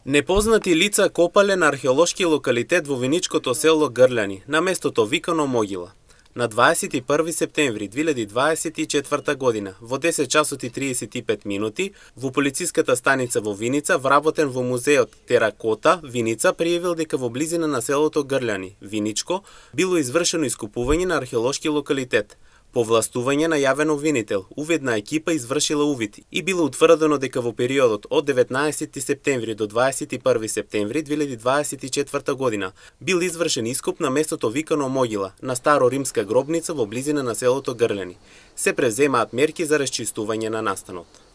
Непознати лица копале на археолошки локалитет во виничкото село Грљани, на местото викано Могила. На 21 септември 2024 година, во 10 часот и 35 минути, во полициската станица во Виница, вработен во музеот Теракота, Виница, пријавил дека во близина на селото Грљани, Виничко, било извршено искупување на археолошки локалитет. По властување најавено обвинител, уведна екипа извршила увид и било утврдено дека во периодот од 19 септември до 21 септември 2024 година бил извршен искуп на местото викано Могила, на старо-римска гробница во близина на селото Грљани. Се преземаат мерки за расчистување на настанот.